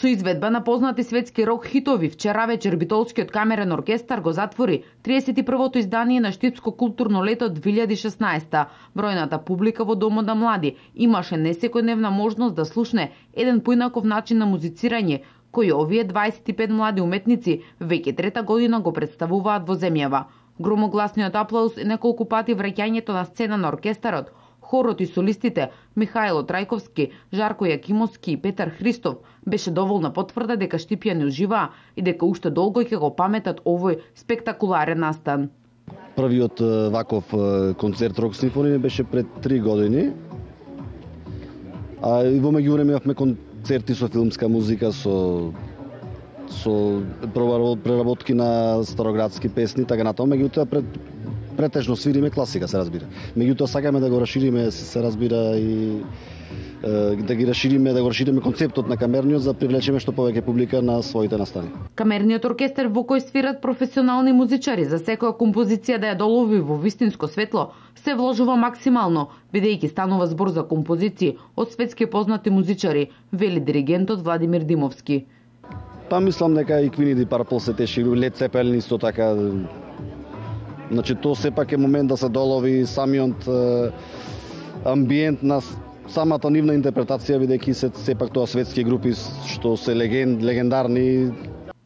Со изведба на познати светски рок хитови, вчера вечер Битолскиот камерен оркестар го затвори 31-то издание на Штипско културно лето 2016. Бројната публика во Домот на млади имаше несекојдневна можност да слушне еден поинаков начин на музицирање, кој овие 25 млади уметници веќе трета година го представуваат во земјава. Громогласниот аплауз и неколку пати враќањето на сцена на оркестарот, хорот и солистите Михајло Трајковски, Жарко Јакимовски и Петар Христов беше доволна потврда дека штипјани уживаа и дека уште долго ќе го паметат овој спектакуларен настан. Првиот ваков концерт Рок симфонија беше пред 3 години. А и во меѓувреме имавме концерти со филмска музика, со преработки на староградски песни, така натаму, меѓутоа претежно свириме класика, се разбира. Меѓутоа сакаме да го расшириме, се разбира, и да го расшириме концептот на камерниот за да привлечеме што повеќе публика на своите настани. Камерниот оркестар во кој свират професионални музичари, за секоја композиција да ја долови во вистинско светло, се вложува максимално, бидејќи станува збор за композиции од светски познати музичари, вели диригентот Владимир Димовски. Па мислам дека и Queen и Purple се теши, Led Zeppelin исто така. Значи, тоа сепак е момент да се долови самиот амбиент на самата нивна интерпретација, бидејќи сепак тоа светски групи што се легендарни.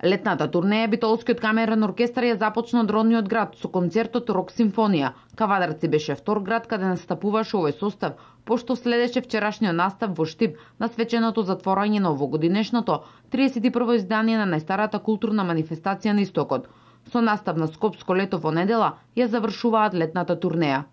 Летната турнеја Битолскиот камерен оркестар ја започна од родниот град со концертот Рок симфонија. Кавадарци беше втор град каде настапуваше овој состав, пошто следеше вчерашниот настап во Штип на свеченото затворање на овогодинешното 31-во издание на најстарата културна манифестација на Истокот. Со настап на Скопско лето во недела ја завршуваат летната турнеја.